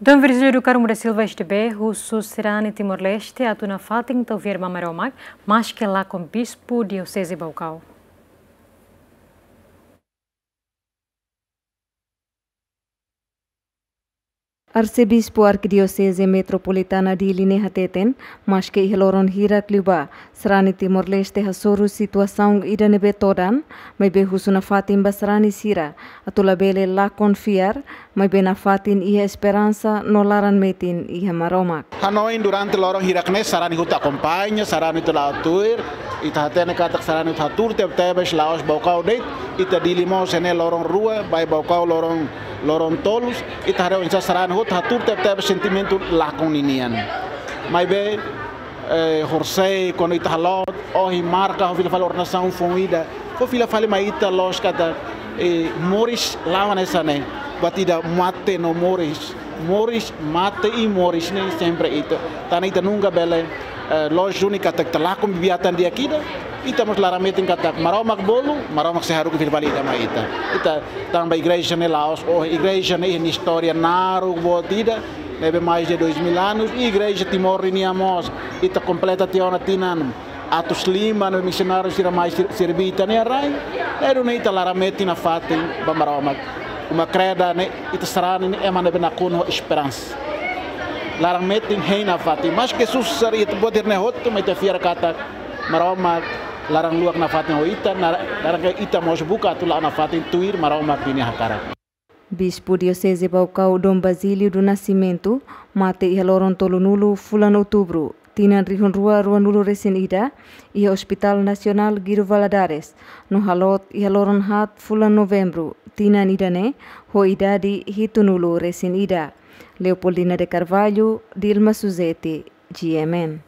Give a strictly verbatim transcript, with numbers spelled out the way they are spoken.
Dom Virgílio do Carmo da Silva, S D B, husu sarani Timor-Leste atu nafatin tau fiar ba Maromak, maske lakon Bispu Dioseze Baucau. Arsebispu Arkidioseze Metropolitana Dili ne'e hateten, maske iha loron hirak liubá, sarani Timor-Leste hasoru situasaun ida ne'ebé todan, maibé husu nafatin ba sarani sira atu labele lakon fiar, maibé nafatin iha esperansa no laran metin iha Maromak. Hanoin durante loron hirak ne'e sarani hotu akompaña, sarani hotu la'o tuir, ita hatene katak sarani hotu hatuur tebetebes la'ós Baucau de'it, ita Dili mós ne'e loron rua, ba iha Baucau loron, loron tolu, ita haree oinsá sarani hotu hatuur tebetebes sentimentu lakon ninian. Maibé, eh, horisehik kuandu ita haloot, ohin marka ho fila fali ordenasaun foun ida. Fó fila fali mai ita loos katak, eh, moris la'o hanesan ne'e. Buat ida mate no moris. Moris, mate i moris ne'e sempre ita. Tanba ita nunka bele, eh, loos duni katak ita lakon bibi-atan di'ak ida. Ita mós laran metin katak Maromak bolu, Maromak sei haruka fila fali ida mai ita. Ita tanba igreja ne'e la'ós, oh, igreja ne'e iha nia istória naruk boot ida. Ne'ebé mais de dois mil anos, i igreja Timor nian mós, ita kompleta tiha ona tinan atus lima ne'ebé misionáriu sira mai sir-, serví ita-nia rai. Ne'e duni ita laran metin nafatin ba Maromak. Uma-Kreda ne'e, ita sarani ne'e ema ne'ebé nakonu ho esperansa. Laran metin hein nafatin. Maske susar ita buat sira-ne'e hotu, maibé ita fiar katak Maromak laran luak nafatin ho ita, na-, laran ke ita mós buka atu la'o nafatin tuir Maromak nia hakarak. Bispu Dioseze Baucau Dom Basílio do Nascimento mate iha loron tolunulu fulan Outubru, tinan rihun rua ruanulu resin ida, iha Hospital Nasionál Guido Valadares, no haloot iha loron haat fulan Novembru, tinan ida-ne'e, ho idade hitunulu resin ida. Leopoldina de Carvalho, Dilma Suzete, G M N.